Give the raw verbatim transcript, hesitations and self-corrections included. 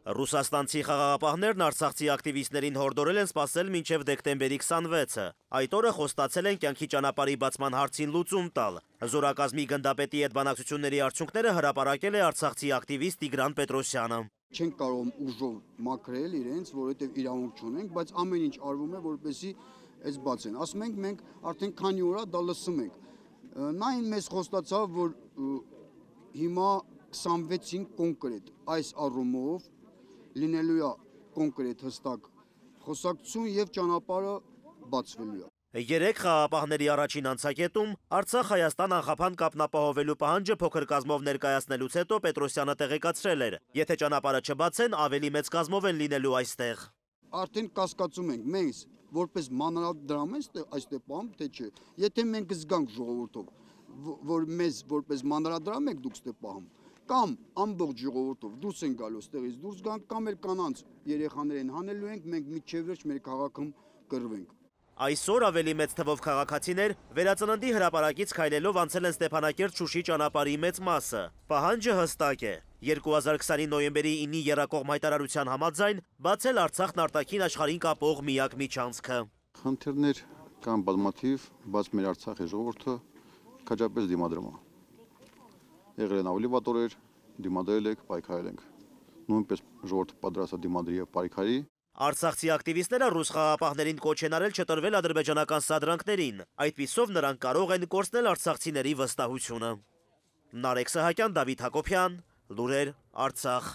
Ռուսաստանցի խաղաղապահներն արցախցի ակտիվիստներին հորդորել են սպասել մինչև դեկտեմբերի քսանվեցը։ Այդ օրը խոստացել են կյանքի ճանապարհի բացման հարցին լուծում տալ։ Զորակազմի գնդապետի հետ բանակցությունների արդյունքները հրապարակել է արցախցի ակտիվիստ Տիգրան Պետրոսյանը։ Չենք կարող ուժով մաքրել իրենց, որովհետև իրավունք չունենք, բայց ամեն ինչ արվում է, որպեսզի այս բացեն։ Ասում ենք, մենք արդեն քանի օր է դա լսում ենք։ Նա մեզ խոստացավ, որ հիմա քսանվեցին կոնկրետ այս առումով լինելու է կոնկրետ հստակ խոսակցություն եւ ճանապարհը բացվելու է։ Երեք խաղաղապահների առաջին անցակետում Արցախ-Հայաստան անխափան կապն ապահովելու պահանջը փոքր կազմով ներկայացնելուց հետո Պետրոսյանը տեղեկացրել էր. եթե ճանապարհը չբացեն, ավելի մեծ կազմով են լինելու այստեղ։ Արդեն կասկածում ենք մենք որպես մանրադրամ այստեղ պահում, թե չէ։ Եթե մենք զգանք ժողովրդով, որ մեզ որպես մանրադրամ եք դուք ստե պահում, կամ ամբողջ ժողովրդով դուրս են գալու ստեղից դուրս գանք, կամ էլ կանանց երեխաներին հանելու ենք, մենք միջև վերջ մեր քաղաքում կռվենք։ Այսօր ավելի մեծ թվով քաղաքացիներ վերածննդի հրապարակից քայլելով անցել են Ստեփանակերտ-Շուշի ճանապարհի մեծ մասը։ Պահանջը հստակ է. երկու հազար քսանի նոյեմբերի ինի եռակողմ հայտարարության համաձայն բացել Արցախն արտաքին աշխարհին կապող միակ միջանցքը։ Խնդիրներ կան բազմաթիվ, բայց մեր Արցախի ժողովուրդը քաջապես դիմադրում է։ Եղել են ավելի վատ օրեր, դիմադրել ենք, պայքարել ենք։ Նույնպես ժողովուրդը պատրաստ է դիմադրի եւ պայքարի։ Արցախցի ակտիվիստները ռուս խաղաղապահներին կոչ են արել չտրվել ադրբեջանական սադրանքներին, այդպիսով նրանք կարող են կորցնել արցախցիների վստահությունը։ Նարեկ Սահակյան, Դավիթ Հակոբյան, Լուրեր, Արցախ։